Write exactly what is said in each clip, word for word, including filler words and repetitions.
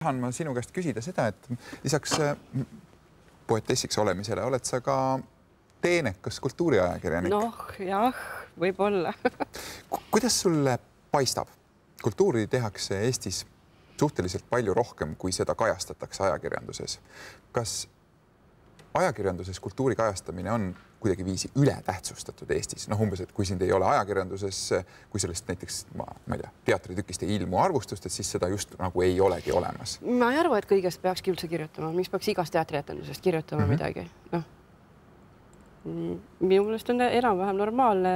tahan ma sinu käest küsida seda, et lisaks poetessiks olemisele oled sa ka teenekas kultuuriajakirjanik. Noh, jah, võib-olla. Kuidas sulle paistab? Kultuuri tehakse Eestis suhteliselt palju rohkem, kui seda kajastatakse ajakirjanduses. Kas ajakirjanduses kultuuri kajastamine on kuidagi viisi üle tähtsustatud Eestis? Noh, umbes, et kui sind ei ole ajakirjanduses, kui sellest näiteks, ma, ma ei tea, teatritükist ei ilmu arvustust, et siis seda just nagu ei olegi olemas. Ma ei arva, et kõigest peakski üldse kirjutama. Miks peaks igast teatrietendusest kirjutama mm-hmm. midagi? Noh. Minu meelest on enam-vähem normaalne.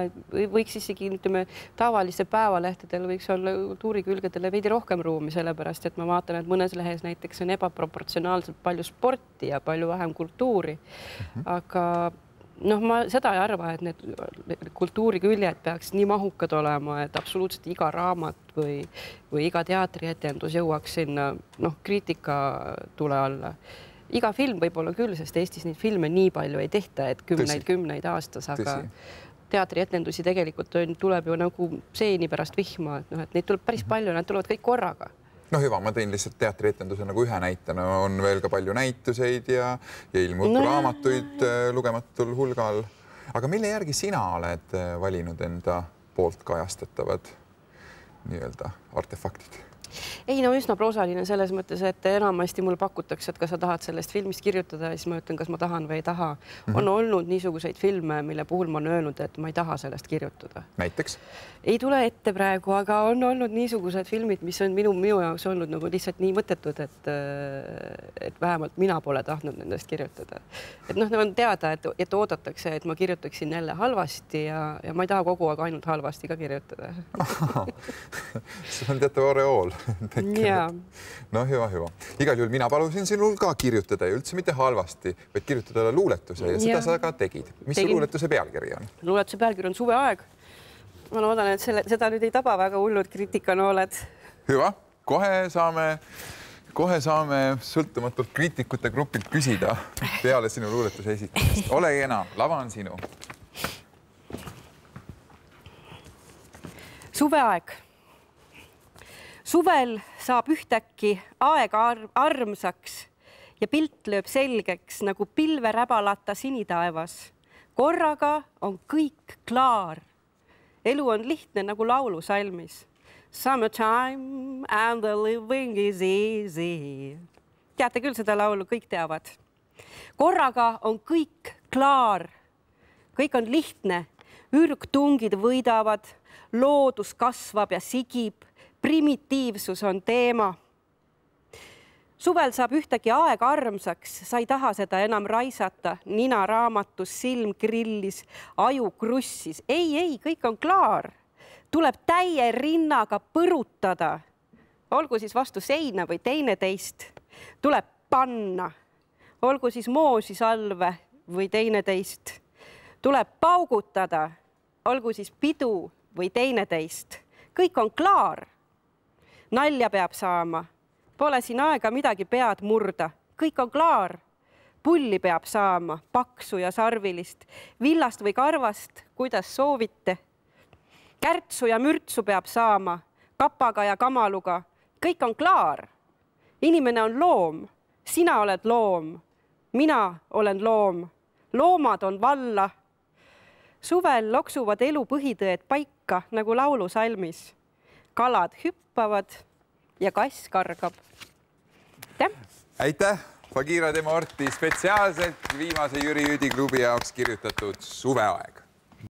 Võiks isegi, ütleme, tavaliste päevalehtedel võiks olla kultuurikülgedele veidi rohkem ruumi, sellepärast, et ma vaatan, et mõnes lehes näiteks on ebaproportsionaalselt palju sporti ja palju vähem kultuuri. Mm-hmm. Aga noh, ma seda ei arva, et need kultuuriküljed peaks nii mahukad olema, et absoluutselt iga raamat või, või iga teatrietendus jõuaks sinna noh, kriitika tule alla. Iga film võib olla küll, sest Eestis neid filme nii palju ei tehta, et kümneid, kümneid aastas, aga teatrietendusi tegelikult on, tuleb ju nagu seeni pärast vihma, et, noh, et neid tuleb päris palju, nad tulevad kõik korraga. No hüva, ma tõin lihtsalt teatrietenduse nagu ühe näitena, on veel ka palju näituseid ja, ja ilmub no, raamatuid lugematul hulgal. Aga mille järgi sina oled valinud enda poolt kajastatavad nii-öelda artefaktid? Ei, no üsna proosaline selles mõttes, et enamasti mul pakutakse, et kas sa tahad sellest filmist kirjutada, siis ma ütlen, kas ma tahan või ei taha. Mm-hmm. On olnud niisuguseid filme, mille puhul ma olen öelnud, et ma ei taha sellest kirjutada. Näiteks? Ei tule ette praegu, aga on olnud niisugused filmid, mis on minu, minu jaoks olnud nagu lihtsalt nii mõttetud, et, et vähemalt mina pole tahtnud nendest kirjutada. Et noh, on teada, et, et oodatakse, et ma kirjutaksin jälle halvasti ja, ja ma ei taha kogu aeg ainult halvasti ka kirjutada. See on teatav oreool. Ja. No hüva, hüva. Igal juhul mina palusin sinul ka kirjutada ja üldse mitte halvasti, vaid kirjutada luuletuse ja, ja seda sa ka tegid. Mis Tegin. Su luuletuse pealkiri on? Luuletuse pealkiri on Suveaeg. Ma loodan, et selle, seda nüüd ei taba väga hullud kriitikanooled. Hüva, kohe saame, kohe saame sõltumatult kriitikute grupilt küsida peale sinu luuletuse esitamist. Ole kena, lava on sinu. Suveaeg. Suvel saab ühtäkki aeg armsaks ja pilt lööb selgeks nagu pilveräbalata sinitaevas. Korraga on kõik klaar. Elu on lihtne nagu laulusalmis. Summertime and the living is easy. Teate küll seda laulu, kõik teavad. Korraga on kõik klaar. Kõik on lihtne. Ürgtungid võidavad, loodus kasvab ja sigib. Primitiivsus on teema. Suvel saab ühtegi aeg armsaks, sa ei taha seda enam raisata. Nina raamatus, silm grillis, aju krussis. Ei, ei, kõik on klaar. Tuleb täie rinnaga põrutada. Olgu siis vastu seina või teine teist. Tuleb panna. Olgu siis moosi salve või teine teist. Tuleb paugutada. Olgu siis pidu või teine teist. Kõik on klaar. Nalja peab saama. Pole siin aega midagi pead murda. Kõik on klaar. Pulli peab saama, paksu ja sarvilist. Villast või karvast, kuidas soovite. Kärtsu ja mürtsu peab saama. Kapaga ja kamaluga. Kõik on klaar. Inimene on loom. Sina oled loom. Mina olen loom. Loomad on valla. Suvel loksuvad elu põhitõed paika nagu laulusalmis. Kalad hüppavad ja kass kargab. Aitäh! Aitäh! Bagira de Morti spetsiaalselt viimase Jüri Jüdi klubi jaoks kirjutatud Suveaeg.